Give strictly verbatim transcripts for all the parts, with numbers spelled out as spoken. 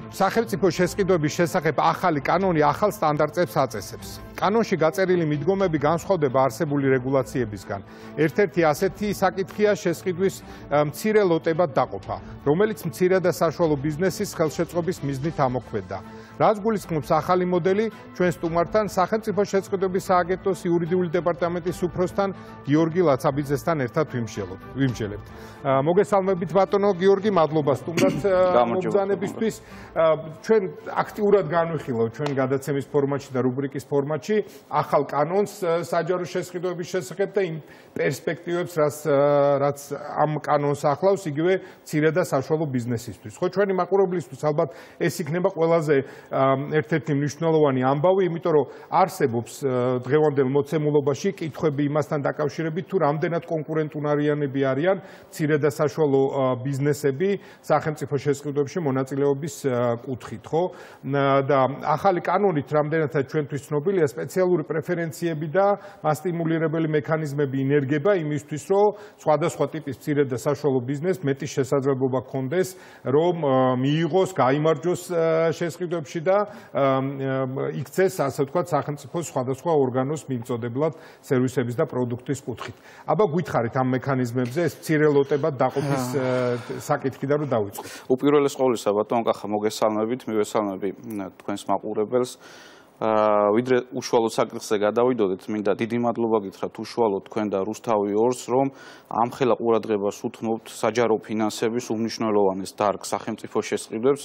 სახელმწიფო შესყიდვების შესახებ ახალი კანონი ახალ სტანდარტებს აწესებს. კანონში გაწერილი მიდგომები განსხვავდება არსებული რეგულაციებისგან. ერთ-ერთი ასეთი საკითხია შესყიდვის მცირე ლოტებად დაყოფა, რომელიც მცირე და საშუალო ბიზნესის ხელშეწყობის მიზნით ამოქმედდა. რაც გულისხმობს ახალი მოდელი ჩვენ სტუმართან სახელმწიფო შესყიდვების სააგენტოს იურიდიული დეპარტამენტის უფროსთან გიორგი ლაცაბიძესთან ერთად ვიმსჯელებთ. მოგესალმებით ბატონო გიორგი, მადლობა სტუმრად მობრძანებისთვის. ჩვენ აქტიურად განვიხილავთ ჩვენ გადაცემის ფორმატში და რუბრიკის ფორმატში ახალ კანონს საჯარო შესყიდვების შესახებ და იმ პერსპექტივებს, რაც ამ კანონს ახლავს, იგივე მცირე და საშუალო ბიზნესისთვის. ხო, ჩვენი მაყურებლისთვის ალბათ ეს იქნება ყველაზე ერთ-ერთი მნიშვნელოვანი ამბავი, იმიტომ რომ არსებობს დღევანდელ მოცემულობაში კითხვები იმასთან დაკავშირებით, თუ რამდენად კონკურენტუნარიანები არიან მცირე და საშუალო ბიზნესები სახელმწიფო შესყიდვებში მონაწილეობის კუთხით, ხო? და ახალი კანონით რამდენადაც ჩვენთვის ცნობილია სპეციალური პრეფერენციები და მასტიმულირებელი მექანიზმები ინერგება იმისთვის, რომ სხვადასხვა ტიპის მცირე და საშუალო ბიზნესს მეტი შესაძლებლობა ჰქონდეს, რომ მიიღოს, გაიმარჯვოს შესყიდვებში და იქცეს, ასე ვთქვათ, სახელმწიფოს სხვადასხვა ორგანოს მიმწოდებლად სერვისების და პროდუქტის კუთხით. აბა გითხარით ამ მექანიზმებზე ეს მცირე ლოტებად დაყოფის საკითხიდან რომ დავიწყოთ. უპირველეს ყოვლისა, ბატონო კახა, მოგესალმებით, მივესალმები თქვენს მაყურებელს. ვიდრე უშუალოდ საკითხზე გადავიდოდეთ, მინდა დიდი მადლობა გითხრათ უშუალოდ თქვენ და რუსთავი ორს, რომ ამხელა ყურადღებას უთმობთ საჯარო ფინანსების უმნიშვნელოვანეს დარგ სახელმწიფო შესყიდვებს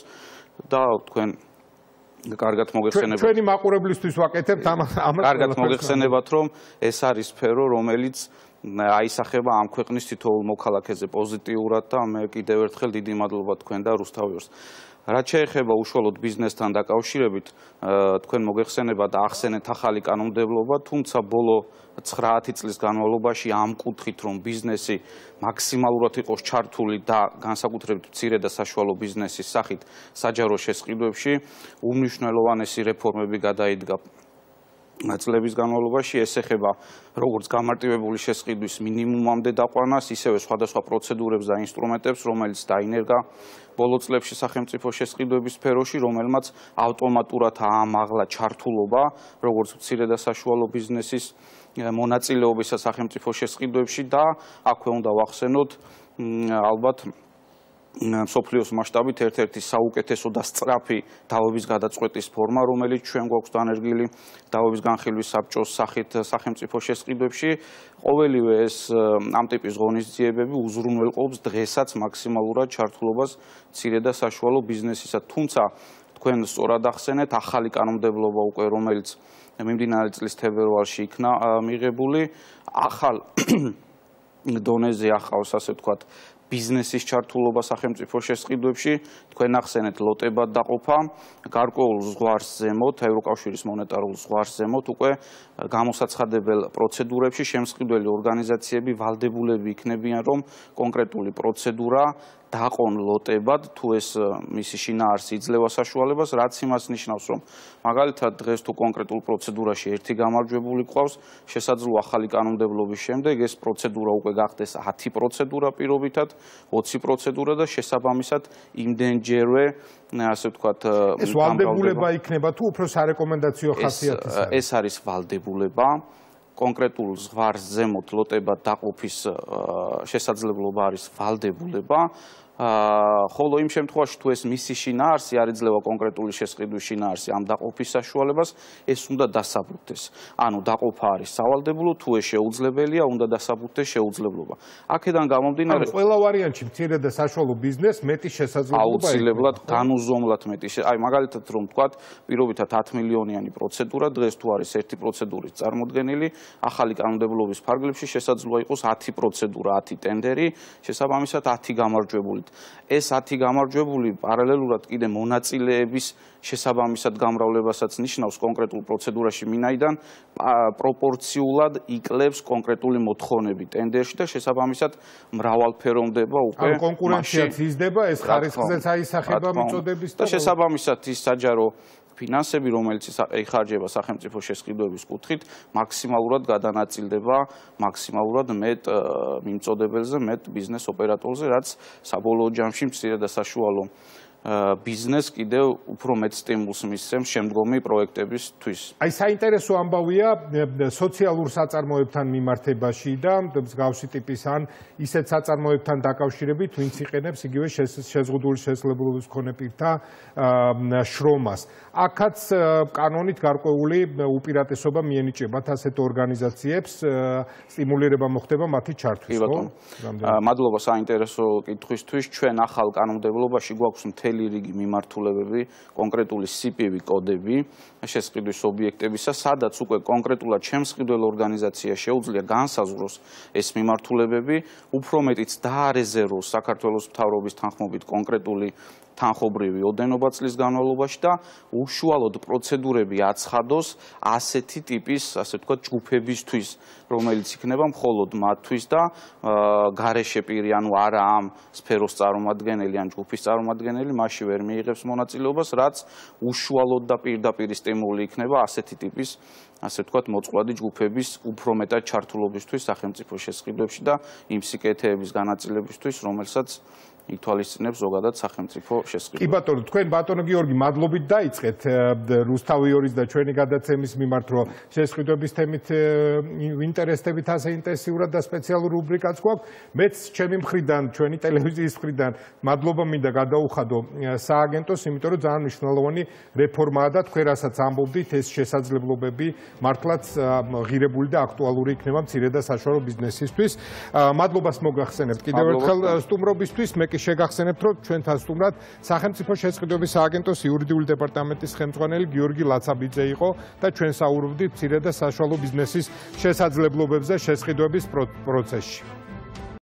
და თქვენ კარგად მოგეხსენებათ. ჩვენი მაყურებლისთვის ვაკეთებთ ამ ამ კარგად მოგეხსენებათ, რომ ეს არის სფერო, რომელიც აისახება ამ ქვეყნის თითოეულ მოქალაქეზე პოზიტიურად და მე კიდევ ერთხელ დიდი მადლობა თქვენ და რუსთავი ორს. რაც შეეხება უშუალოდ ბიზნესთან დაკავშირებით, თქვენ მოგეხსენებათ და ახსენეთ ახალი კანონმდებლობა, თუმცა ბოლო ცხრაათი წლის განმავლობაში ამ კუთხით, რომ ბიზნესი მაქსიმალურად იყოს ჩართული და განსაკუთრებით მცირე და საშუალო ბიზნესის სახით საჯარო შესყიდვებში, უმნიშვნელოვანესი რეფორმები გადაიდგა წლების განმავლობაში. ეს ეხება როგორც გამარტივებული შესყიდვის მინიმუმამდე დაყვანას, ისევე სხვადასხვა პროცედურებს და ინსტრუმენტებს, რომელიც დაინერგა ბოლო წლებში სახელმწიფო შესყიდვების სფეროში, რომელმაც ავტომატურად აამაღლა ჩართულობა როგორც მცირე და საშუალო ბიზნესის მონაწილეობისა სახელმწიფო შესყიდვებში და აქვე უნდა ვახსენოთ ალბათ მსოფლიოს მასშტაბით ერთ-ერთი საუკეთესო და სწრაფი დავების გადაწყვეტის ფორმა, რომელიც ჩვენ გვაქვს დანერგილი დავების განხილვის საბჭოს სახით სახელმწიფო შესყიდვებში. ყოველივე ეს ამ ტიპის ღონისძიებები უზრუნველყოფს დღესაც მაქსიმალურად ჩართულობას მცირე და საშუალო ბიზნესისა. თუმცა თქვენ სწორად ახსენეთ, ახალი კანონმდებლობა უკვე, რომელიც მიმდინარე წლის თებერვალში იქნა მიღებული, ახალ დონეზე ახავს, ასე ვთქვათ, ბიზნესის ჩართულობა სახელმწიფო შესყიდვებში, თქვენ ახსენეთ ლოტებად დაყოფა, გარკვეულ ზღვარს ზემოთ, ევროკავშირის მონეტარულ ზღვარს ზემოთ უკვე გამოსაცხადებელ პროცედურებში შემსყიდველი ორგანიზაციები ვალდებულები იქნებიან, რომ კონკრეტული პროცედურა დაყონ ლოტებად, თუ ეს მისი შინაარსი იძლევა საშუალებას, რაც იმას ნიშნავს, რომ მაგალითად დღეს თუ კონკრეტულ პროცედურაში ერთი გამარჯვებული გვყავს, შესაძლოა ახალი კანონმდებლობის შემდეგ ეს პროცედურა უკვე გახდეს ათი პროცედურა პირობითად, ოცი პროცედურა და შესაბამისად იმდენჯერვე, ასე ვთქვათ, ეს ვალდებულება იქნება თუ უფრო სარეკომენდაციო ხასიათის არის? ეს არის ვალდებულება. კონკრეტულ ზღვარს ზემოთ ლოტებად დაყოფის შესაძლებლობა არის ვალდებულება. ხოლო იმ შემთხვევაში თუ ეს მისი შინაარსი არ იძლევა კონკრეტული შესყიდვის შინაარსი ამ დაყოფის საშუალებას, ეს უნდა დასაბუთდეს. ანუ დაყოფა არის სავალდებულო, თუ ეს შეუძლებელია, უნდა დასაბუთდეს შეუძლებლობა. აქედან გამომდინარე, ყველა ვარიანტში მცირე და საშუალო ბიზნესს მეტი შესაძლებლობა აუცილებლად განუზომლად მეტი. აი მაგალითად რომ ვთქვათ, პირობითად ათი მილიონიანი პროცედურა, დღეს თუ არის ერთი პროცედურის წარმოდგენილი, ახალი კანონმდებლობის ფარგლებში შესაძლოა იყოს ათი პროცედურა, ათი ტენდერი, შესაბამისად ათი გამარჯვებული. ეს ათი გამარჯვებული პარალელურად კიდე მონაწილეების შესაბამისად გამრავლებასაც ნიშნავს კონკრეტულ პროცედურაში, მინაიდან პროპორციულად იკლებს კონკრეტული მოთხოვნები ტენდერში და შესაბამისად მრავალფეროვნება უკვე. ანუ კონკურენციაც იზრდება, ეს ხარისხზეც აისახება მიწოდების და შესაბამისად ის საჯარო ფინანსები, რომელიც იხარჯება სახელმწიფო შესყიდვების კუთხით, მაქსიმალურად გადანაწილდება მაქსიმალურად მეტ მიმწოდებელზე, მეტ ბიზნეს ოპერატორზე, რაც საბოლოო ჯამში მცირე და საშუალო ბიზნესს კიდევ უფრო მეტ სტიმულს მისცემს შემდგომი პროექტებისთვის. აი საინტერესო ამბავია სოციალურ საწარმოებთან მიმართებაში და მსგავსი ტიპის ან ისეთ საწარმოებთან დაკავშირებით, ვინც იყენებს იგივე შეზღუდული შესაძლებლობის მქონე პირთა შრომას. აქაც კანონით გარკვეული უპირატესობა მიენიჭებათ ასეთ ორგანიზაციებს, სტიმულირება მოხდება მათი ჩართვის, ხო? მადლობა საინტერესო კითხვისთვის. ჩვენ ახალ კანონმდებლობაში გვაქვს მთელი რიგი მიმართულებები, კონკრეტული სი პი ვი კოდები შესყიდვის ობიექტებისა, სადაც უკვე კონკრეტულად შემსყიდველ ორგანიზაციას შეუძლია განსაზღვროს ეს მიმართულებები, უფრო მეტიც დაარეზერვოს საქართველოს მთავრობის თანხმობით კონკრეტული თანხობრივი ოდენობა წლის განმავლობაში და უშუალოდ პროცედურები აცხადოს ასეთი ტიპის, ასე ვთქვათ, ჯგუფებისთვის, რომელიც იქნება მხოლოდ მათთვის და გარეშე პირი, ანუ არა ამ სფეროს წარმომადგენელი ან ჯგუფის წარმომადგენელი, მასში ვერ მიიღებს მონაწილეობას, რაც უშუალოდ და პირდაპირ სტიმული იქნება ასეთი ტიპის, ასე ვთქვათ, მოწყვლადი ჯგუფების უფრო მეტად ჩართულობისთვის სახელმწიფო შესყიდვებში და იმ სიკეთეების განაწილებისთვის, რომელსაც ითვალისწინებს ზოგადად სახელმწიფო შესყიდვა. კი ბატონო, თქვენ ბატონო გიორგი, მადლობით დაიწყეთ რუსთავი ორის და ჩვენი გადაცემის მიმართ, რომ შესყიდვების თემით ვინტერესდებით ასე ინტენსიურად და სპეციალურ რუბრიკაც გვაქვს. მეც ჩემი მხრიდან, ჩვენი ტელევიზიის მხრიდან მადლობა მინდა გადაუხადო სააგენტოს, იმიტომ რომ ძალიან მნიშვნელოვანი რეფორმაა და თქვენ რასაც ამბობდით, ეს შესაძლებლობები მართლაც ღირებული და აქტუალური იქნება მცირე და საშუალო ბიზნესისთვის. მადლობას მოგახსენებთ კიდევ ერთხელ სტუმრობისთვის. მე შეგახსენებთ, რომ ჩვენთან სტუმრად სახელმწიფო შესყიდვების სააგენტოს იურიდიული დეპარტამენტის ხელმძღვანელი გიორგი ლაცაბიძე იყო და ჩვენ საუბრობდით მცირე და საშუალო ბიზნესის შესაძლებლობებზე შესყიდვების პროცესში.